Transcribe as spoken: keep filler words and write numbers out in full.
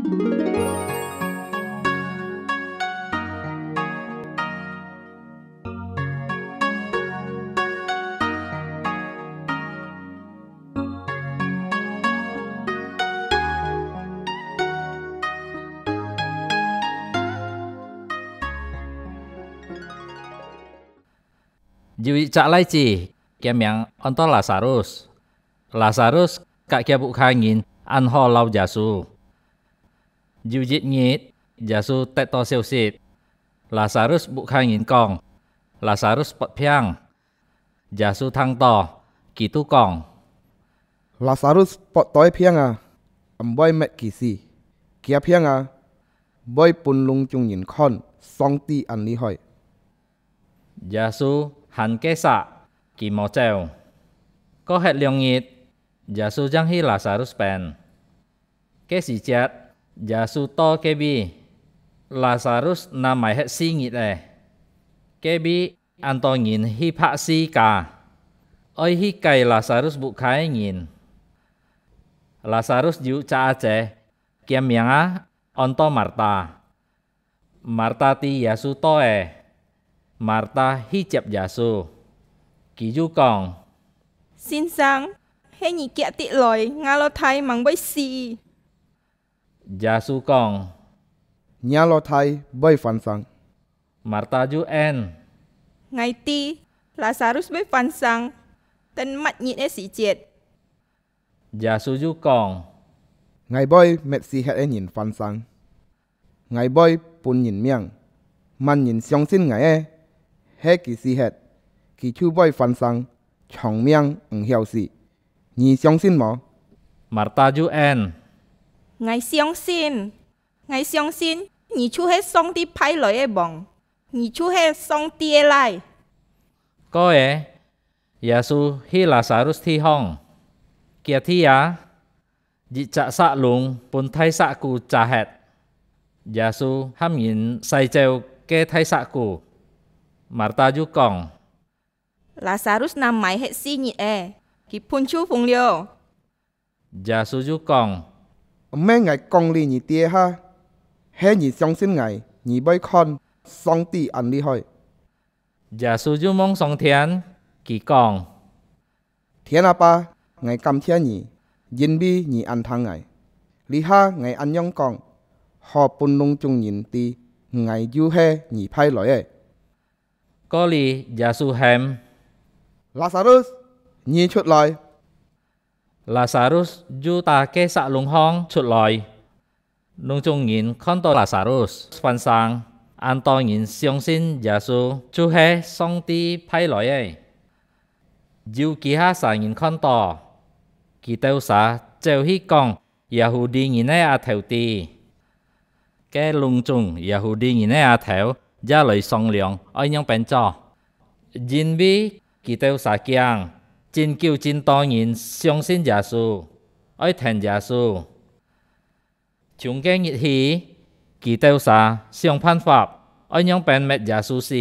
有一隻倈子，厥名安到Lazarus。Lazarus佮厥屋下人恁好摎Yêsu。有一日，Yêsu得到消息，Lazarus屋下人講，Lazarus發病。Yêsu聽到，佢就講：Lazarus發到个病啊，毋會滅佢死，厥病啊，會分攏總人看上帝恁厲害。Yêsu還該煞，佢無走。過忒兩日，Yêsu正去Lazarus片。該時節，Yêsu到該位，Lazarus那埋忒四日了。該位恁多人去拍四架，愛去解Lazarus屋下个人。Lazarus有隻阿姊，厥名啊安到Marta。Marta知Yêsu到了，Marta去接Yêsu。佢又講：先生，係你遽直來，吾老弟吂會死。Yêsu講：若老弟會翻生。Marta又應：𠊎知，Lazarus會翻生，等末日个時節。Yêsu又講：𠊎會滅死忒个人翻生，𠊎會分人命，麼人相信𠊎个，係佢死忒，佢就會翻生，長命毋曉死。你相信無？Marta又應：𠊎相信，𠊎相信你就係上帝派來个王，你就係上帝个倈。過了，Yêsu去Lazarus地方，厥地啊，一隻石籠分大石牯遮忒。Yêsu喊人徙走該大石牯。Marta又講：Lazarus那埋忒四日了，佢本就瘋了。Yêsu又講：毋係𠊎講理你知个哈，係你相信𠊎，你會看上帝恁厲害。Yêsu又望上天，佢講：天阿爸，𠊎感謝你，因為你恁聽𠊎。這下𠊎恁樣講，好分攏總人知，𠊎就係你派來个。過了，Yêsu喊：Lazarus，你出來！Lazarus又打該石籠項出來。攏總人看到Lazarus翻生，恁多人相信Yêsu就係上帝派來个。有其他儕人看到，佢兜儕走去講Yahudi人个阿頭知。該攏總Yahudi人个阿頭也來商量愛仰般做，因為佢兜儕驚，真久真多人相信Yêsu，愛跈Yêsu。從該日起，佢兜儕想辦法，愛仰般滅Yêsu死。